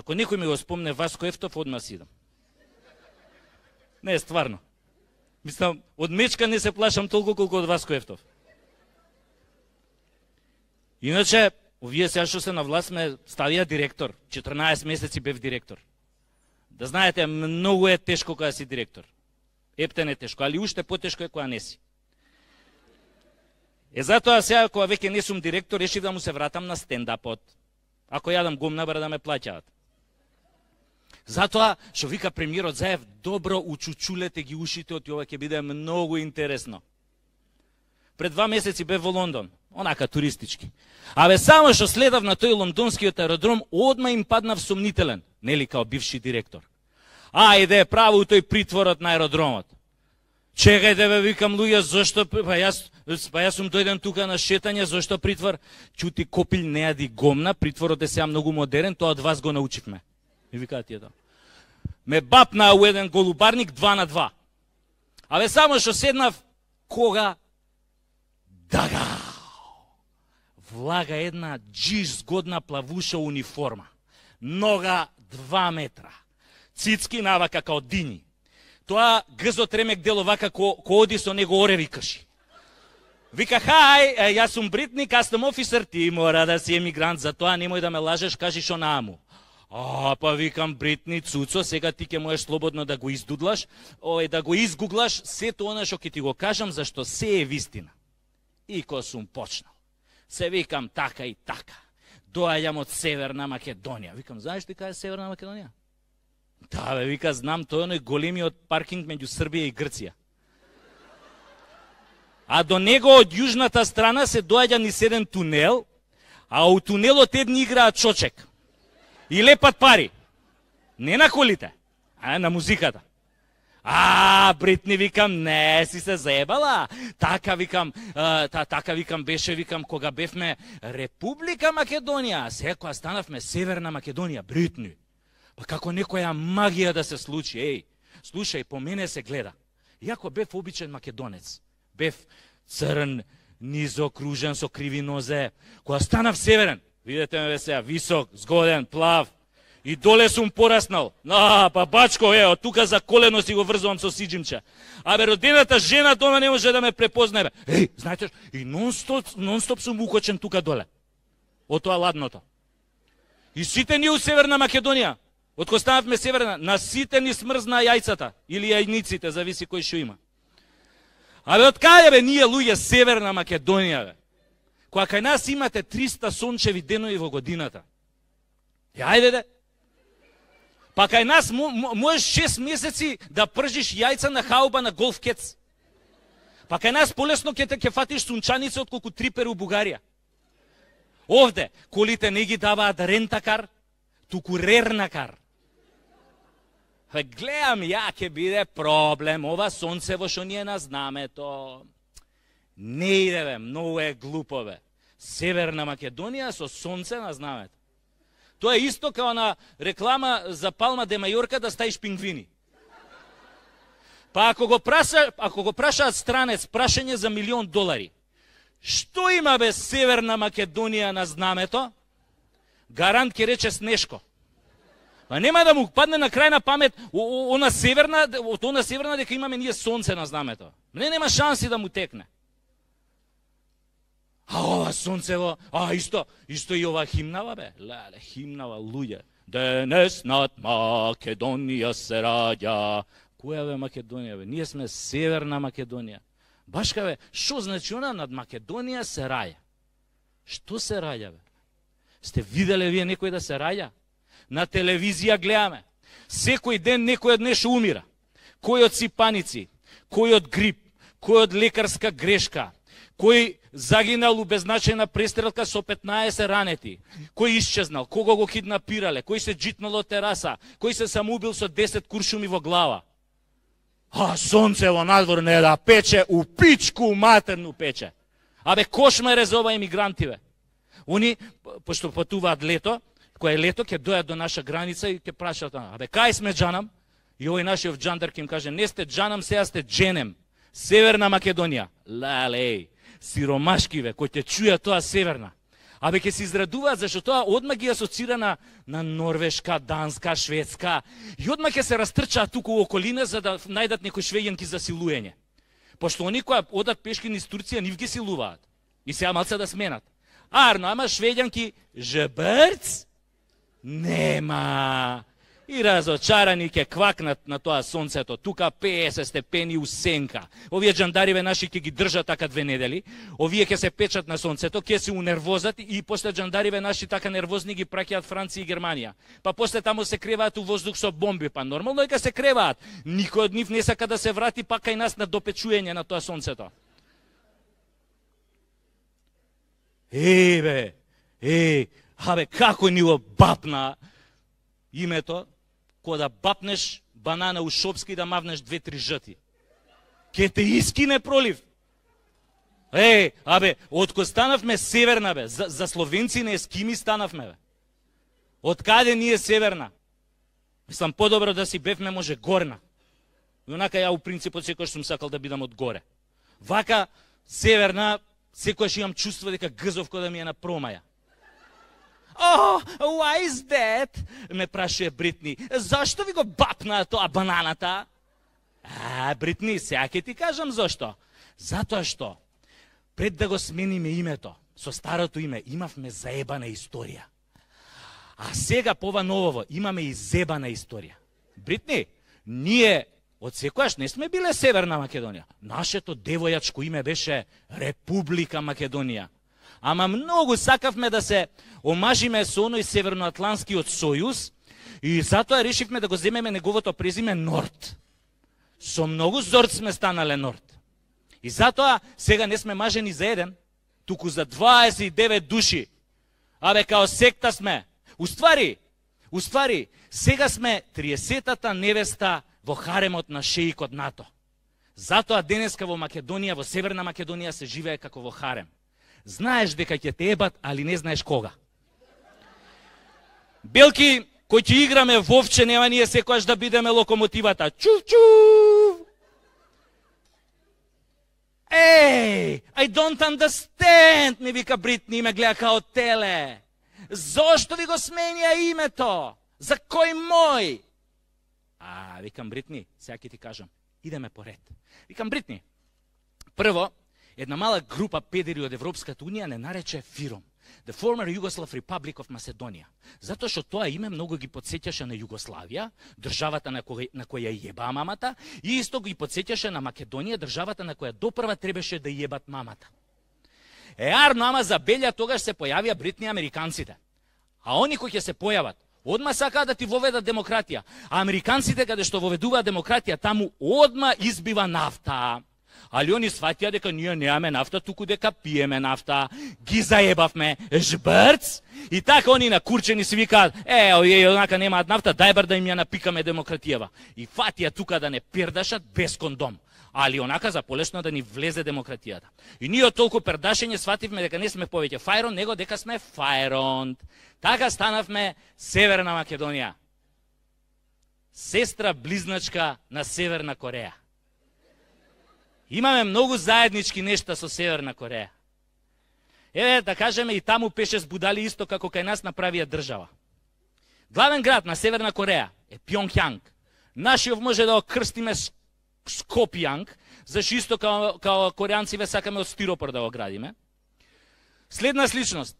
Ако некој ми го спомне Васко Ефтов, одма си идам. Не, стварно. Мислам, од мечка не се плашам толку колку од Васко Ефтов. Иначе, овие сега што се на власт ме ставија директор. 14 месеци бев директор. Да знаете, многу е тешко кога си директор. Ептен е тешко, али уште потешко е кога не си. Затоа сега, кога веќе не сум директор, решив да му се вратам на стендапот. Ако јадам гумна, бара да ме плаќаат. Затоа, што вика премиерот Заев, добро учучулете ги ушите, од ова ќе биде многу интересно. Пред 2 месеци бев во Лондон, онака туристички. Само што следав на тој лондонскиот аеродром, одма им паднав сомнителен, нели као бивши директор. Ајде, право тој притворот на аеродромот. Чекајте бе, викам луѓе, зошто, јас сум дојден тука на шетање, зошто притвор? Чути копил не јади гомна, притворот е сега многу модерен, тоа од вас го научивме. И викаат тие тоа. Ме бапна у еден голубарник 2 на 2. Само што седнав, кога? Дага! Влага една джиш згодна плавуша униформа. Нога 2 метра. Цицки навака као дини. Тоа гзот ремек дел овака ко оди со него ореви каши. Вика, хај, јас сум Бритни, кастом офисер, ти мора да си емигрант, затоа немој да ме лажеш, кажи шо нааму. Па викам, Бритни, цуцо, сега ти ќе можеш слободно да го издудлаш, да го изгуглаш, сето она што ќе ти го кажам, зашто се е вистина. И ко сум почнал. Се викам така и така. Доаѓам од Северна Македонија. Викам, знаеш ти кај е Северна Македонија? Да, бе, вика, знам, тој е големиот паркинг меѓу Србија и Грција. А до него од јужната страна се доаѓа низ еден тунел, а у тунелот едни играат чочек. И лепат пари. Не на колите, а на музиката. Бритни, викам, не си се заебала. Така викам, беше, викам, кога бевме Република Македонија, сега кога станавме Северна Македонија, Бритни. Па како некоја магија да се случи, слушај, по мене се гледа. Иако бев обичен македонец, бев црн, низокружен со криви нозе, кога станав северен, видете ме сега, висок, згоден, плав, и доле сум пораснал. Па бачко, од тука за колено си го врзувам со сиджимче. Родената жена дома не може да ме препознае. Знаете, и нон-стоп сум укочен тука доле, од тоа ладното. И сите ние у Северна Македонија, од кога станавме северна, на сите ни смрзна јајцата, или јајниците, зависи кој што има. Од каде бе ние луѓе Северна Македонија, бе? Кога кај нас имате 300 сончеви денови во годината. Ајде де. Па кај нас можеш 6 месеци да пржиш јајца на хауба на голф кец. Па кај нас полесно ќе фатиш сунчаница отколку трипер у Бугарија. Овде колите не ги даваат рентакар, туку рернакар. Гледам, ќе биде проблем, ова сонцево што ние на знамето. Не иде, бе, многу е глупо, бе. Северна Македонија со сонце на знамето. Тоа е исто као на реклама за Палма де Мајорка да ставиш пингвини. Па ако го прашаат странец прашање за $1.000.000, што има, бе, Северна Македонија на знамето? Гарант ќе рече Снешко. Па нема да му падне на крај на памет она северна дека имаме ние сонце на знамето. Нема шанси да му текне. Ова сонцево, исто и ова химнава, бе. Леле, химнава, луѓе. Денес над Македонија се раѓа. Која, бе, Македонија, бе? Ние сме Северна Македонија. Башка, бе, што значи она над Македонија се раѓа? Што се раѓа, бе? Сте виделе вие некој да се раѓа? На телевизија гледаме. Секој ден некој од нешто умира. Кој од сипаници, кој од грип, кој од лекарска грешка, кој загинал у беззначајна престрелка со 15 ранети, кој исчезнал, кого го киднапирале, кој се джитнал од тераса, кој се самоубил со 10 куршуми во глава. Сонцево надвор не да пече, у пичку матерну пече. Кошмаре за ова емигранти, бе. Они, пошто патуваат лето, кое е лето, ќе дојат до наша граница и ќе прашаат, кај сме Джанам? И овој нашиот джандар ќе им каже, не сте Джанам, сега сте Дженем. Северна Македонија. Леле, сиромашки, бе, кој те чуја тоа Северна. Абе, ќе се израдуваат, зашто тоа одма ги асоцира на Норвешка, Данска, Шведска, и одма ќе се растрчаат туку у околина за да најдат некои швеѓанки за силуење. Пошто они која одат пешки низ Турција, нив ги силуваат. И сега малце да сменат. Арно, ама швеѓанки, жбрц? Нема. И разочарани ќе квакнат на тоа сонцето, тука 50 степени у сенка. Овие джандариве наши ќе ги држат така 2 недели, овие ќе се печат на сонцето, ќе се унервозат и после джандариве наши така нервозни ги праќаат Франција и Германија. Па после таму се креваат у воздух со бомби, па нормално е ка се креваат. Никој од нив не сака да се врати пак кај нас на допечуење на тоа сонцето. Абе, како ни го бапна името, кога да бапнеш банана у Шопски и да мавнеш 2-3 жъти. Ке те искине пролив. Абе, откој станавме северна, бе, за словенци не ескими станавме, бе. Од каде ние северна? Мислам, подобро да си бевме може горна. И онака ја у принципот секојаш сум сакал да бидам од горе. Вака, северна, секојаш имам чувство дека гзовко да ми е на промаја. Oh, why is that? Ме прашуе Бритни. Зашто ви го бапна тоа бананата? Бритни, сега ќе ти кажам зашто. Затоа што, пред да го смениме името, со старото име, имавме заебана историја. А сега по ова новово имаме и зебана историја. Бритни, ние од секојаш не сме биле Северна Македонија. Нашето девојачко име беше Република Македонија. Ама многу сакавме да се омажиме со оној Северноатлантскиот сојуз и затоа решивме да го земеме неговото презиме Норд. Со многу зорд сме станале Норд. И затоа сега не сме мажени за еден, туку за 29 души. Абе, као секта сме. Уствари, сега сме 30-та невеста во харемот на шеикот НАТО. Затоа денеска во Македонија, во Северна Македонија се живее како во харем. Знаеш дека ќе те ебат, али не знаеш кога. Белки, кој ќе играме вовче, нема ние секојаш да бидеме локомотивата. Чув! I don't understand, ми вика Бритни и ме гледа као теле. Зошто ви го сменија името? За кој мој? Викам Бритни, сега ќе ти кажам. Идеме поред. Викам Бритни, прво, една мала група педери од Европската Унија не нарече ФИРОМ, The Former Yugoslav Republic of Macedonia. Затоа што тоа име многу ги подсеќаше на Југославија, државата на која јебаа мамата, и исто ги подсеќаше на Македонија, државата на која допрва требаше да јебат мамата. Арно, ама забелја тогаш се појавија Бритни американците. А они кои ќе се појават, одма сакаат да ти воведат демократија. А американците каде што воведуваат демократија, таму одма избива нафта. Али они сватија дека ние немаме нафта, туку дека пиеме нафта. Ги заебавме, жбрц. И така они накурчени си викаат, овие онака немаат нафта, дај бар да им ја напикаме демократијава. И фатија тука да не пердашат без кондом. Али онака за полесно да ни влезе демократијата. И ние од толку пердашење свативме дека не сме повеќе Фајрон, него дека сме Фајронд. Така станавме Северна Македонија. Сестра близначка на Северна Кореја. Имаме многу заеднички нешта со Северна Кореја. Да кажеме, и таму пеше збудали исто како кај нас направија држава. Главен град на Северна Кореја е Пјонгјанг. Нашиот може да го крстиме Скопјанг, зашто исто као кореанциве сакаме од стиропор да го градиме. Следна сличност.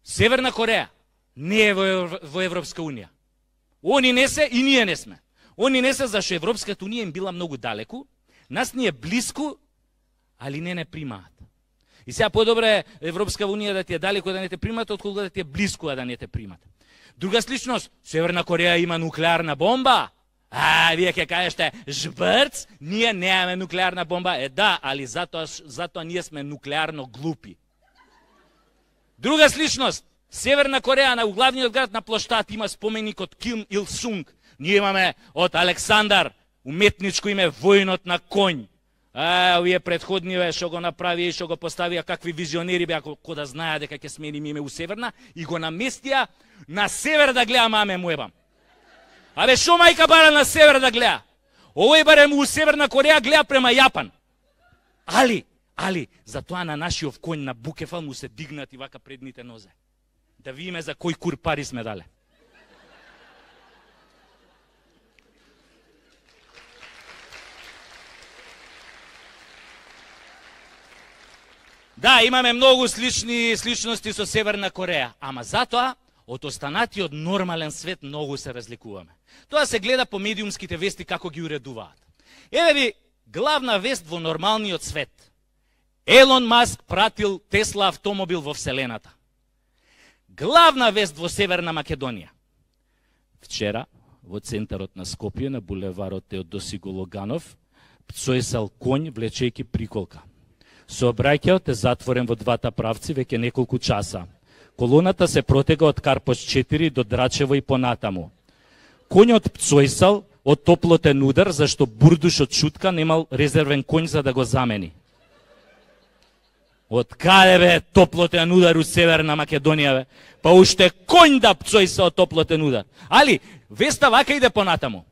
Северна Кореја не е во Европска Унија. Они не се и ние не сме. Они не се зашто Европската Унија им била многу далеку, нас ни е блиску, али не примаат. И сега подобро е Европска Унија да ти е далеку да не те примаат, отколку да ти е блиску да не те примаат. Друга сличност, Северна Кореја има нуклеарна бомба. Вие ќе кажете, жбрц, ние немаме нуклеарна бомба. Да, али затоа ние сме нуклеарно глупи. Друга сличност, Северна Кореја на главниот град на плоштад има споменик од Ким Ил Сунг. Ние имаме од Александар, уметничко име војнот на конј. Овие предходниве што го направија и што го поставија какви визионери беа кој да знаеа дека ќе смениме име у Северна и го наместија на север да гледа маме му ебам. Абе шо мајка бара на север да гледа? Овој барем у Северна Кореја гледа према Јапан. Али, затоа на нашиот конј на Букефал му се дигнати вака предните нозе. Да видиме за кој кур пари сме дале. Да, имаме многу сличности со Северна Кореја, ама затоа од останатиот нормален свет многу се разликуваме. Тоа се гледа по медиумските вести како ги уредуваат. Еве ви главна вест во нормалниот свет. Елон Маск пратил Тесла автомобил во Вселената. Главна вест во Северна Македонија. Вчера, во центарот на Скопје, на булеварот Теодоси Гологанов, пцоесал конј влечејќи приколка. Сообраќајот е затворен во двата правци веќе неколку часа. Колоната се протега од Карпош 4 до Драчево и понатаму. Конјот пцоесал од топлотен удар, зашто бурдушот Шутка немал резервен конј за да го замени. Од каде бе топлотен удар у Северна Македонија бе? Па уште конј да пцоеса од топлотен удар. Али, веста вака иде понатаму.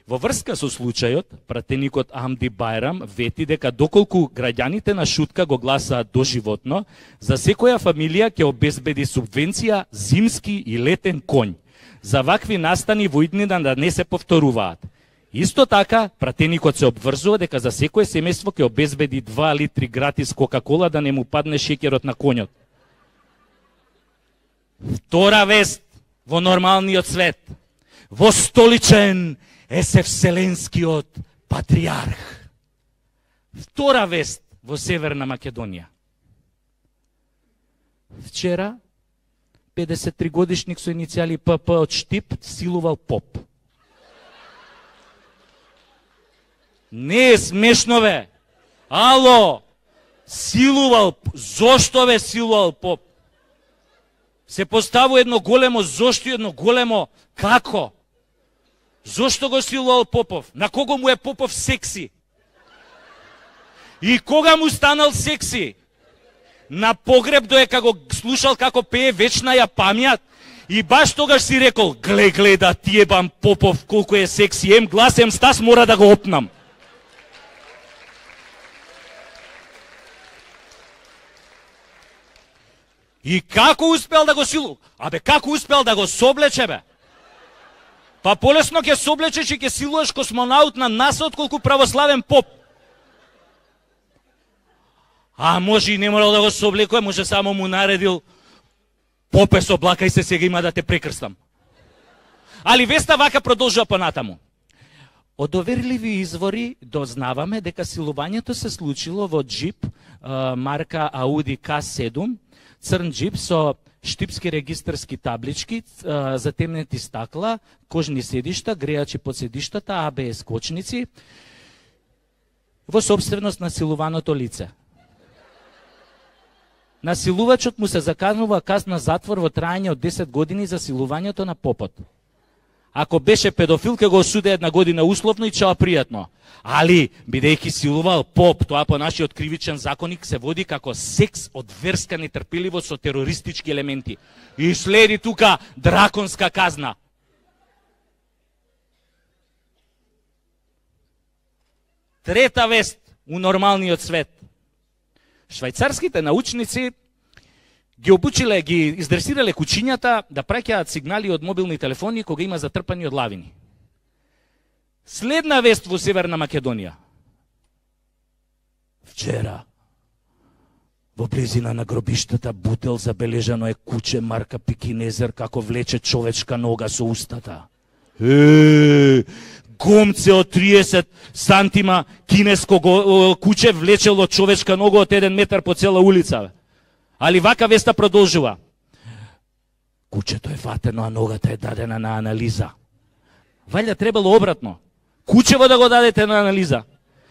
Во врска со случајот, пратеникот Амди Байрам вети дека доколку граѓаните на Шутка го гласаат доживотно, за секоја фамилија ќе обезбеди субвенција зимски и летен конј. За вакви настани во иднина да не се повторуваат. Исто така, пратеникот се обврзува дека за секое семејство ќе обезбеди 2 литри гратис Кока-кола да не му падне шеќерот на конјот. Втора вест во нормалниот свет. Востоличен е се вселенскиот патриарх. Втора вест во Северна Македонија. Вчера 53 годишник со иницијали ПП од Штип силувал поп. Не е смешно бе. Ало, силувал, зошто бе силувал поп? Се поставува едно големо зошто и едно големо како? Зошто го силувал Попов? На кого му е Попов секси? И кога му станал секси? На погреб доека го слушал како пее вечна ја памјат и баш тогаш си рекол, гледа да ти ебам Попов колку е секси, ем глас, ем стас, мора да го опнам. И како успел да го силу? Абе, како успел да го соблече, бе? Па полесно ќе соблечеш и ќе силуваш космонаут на НАСА отколку православен поп. А може и не морал да го соблекува, може само му наредил попе соблакај се, сега има да те прекрстам. Али веста вака продолжува понатаму. Од доверливи извори дознаваме дека силувањето се случило во джип марка Audi K7, црн джип со штипски регистарски таблички, затемнети стакла, кожни седишта, грејачи под седиштата, ABS кочници, во собственост на силуваното лице. Насилувачот му се заканува казна затвор во трајање од 10 години за силувањето на попот. Ако беше педофил, ќе го осуде 1 година условно и чао пријатно. Али, бидејќи силувал поп, тоа по нашиот кривичен законник се води како секс од верска нетрпеливост со терористички елементи. И следи тука драконска казна. Трета вест у нормалниот свет. Швајцарските научници ги обучиле, ги издресирале кучињата да праќаат сигнали од мобилни телефони кога има затрпани од лавини. Следна вест во Северна Македонија. Вчера, во близина на гробиштата Бутел, забележано е куче марка Пекинезер како влече човечка нога со устата. Гомце од 30 сантима кинеско куче влечело човечка нога од 1 метар по цела улица. Али вака веста продолжува. Кучето е фатено, а ногата е дадена на анализа. Валја требало обратно. Кучево да го дадете на анализа.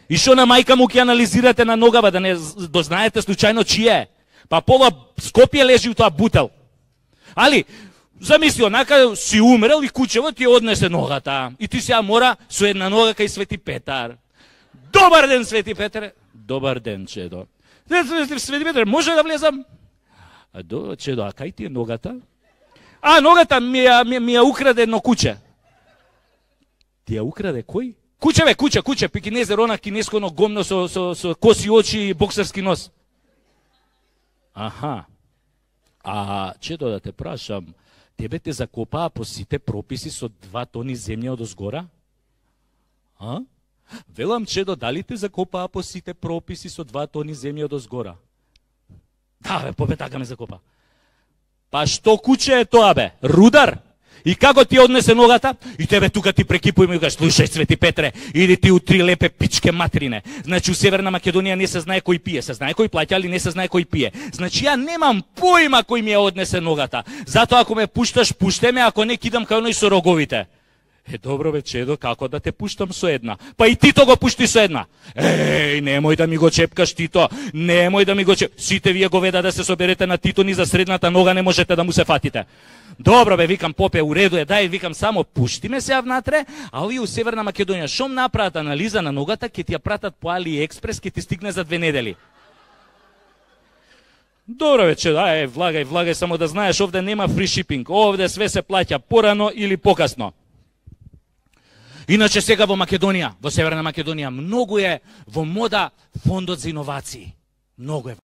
И шо на мајка му ќе анализирате на ногава, да не дознаете случајно чија е. Па пола Скопје лежи у тоа Бутел. Али, замисли, онака си умрел и кучево ти однесе ногата. И ти сега мора со една нога кај Свети Петар. Добар ден, Свети Петре. Добар ден, Чедо. Свети Петре, може да влезам? Чедо, а кај ти е ногата? А, ногата ми ја украде едно куче. Ти ја украде кој? Куче, пекинезер, она кинесконо гомно со коси очи и боксерски нос. Аха. А чедо да те прашам, тебе те закопаа по сите прописи со 2 тони земја од озгора? А? Велам, чедо, дали те закопаа по сите прописи со 2 тони земја од озгора? Да, бе, побе така ме закопа. Па што куче е тоа, бе? Рудар? И како ти однесе ногата? И тебе тука ти прекипува и ми кажеш, слушај, Свети Петре, иди ти у 3 лепе пичке матрине. Значи, у Северна Македонија не се знае кој пие. Се знае кој плаќа, али не се знае кој пие. Значи, ја немам поима кој ми ја однесе ногата. Затоа, ако ме пушташ, пуште ме, ако не, кидам кај оној со роговите. Добро, бе, чедо, како да те пуштам со една? Па и тито го пушти со една. Немој да ми го чепкаш, Тито. Немој да ми го чепкаш. Сите вие говеда да се соберете на Тито, ни за средната нога не можете да му се фатите. Добро, бе, викам, попе, уреду е, дај, викам, само пушти ме се внатре, а овие у Северна Македонија, шом направат анализа на ногата, ќе ти ја пратат по AliExpress, ќе ти стигне за 2 недели. Добро, бе, чедо, влагај, само да знаеш, овде нема фри шипинг, овде све се плаќа порано или покасно. Иначе сега во Македонија, во Северна Македонија, многу е во мода фондот за иновации. Многу е.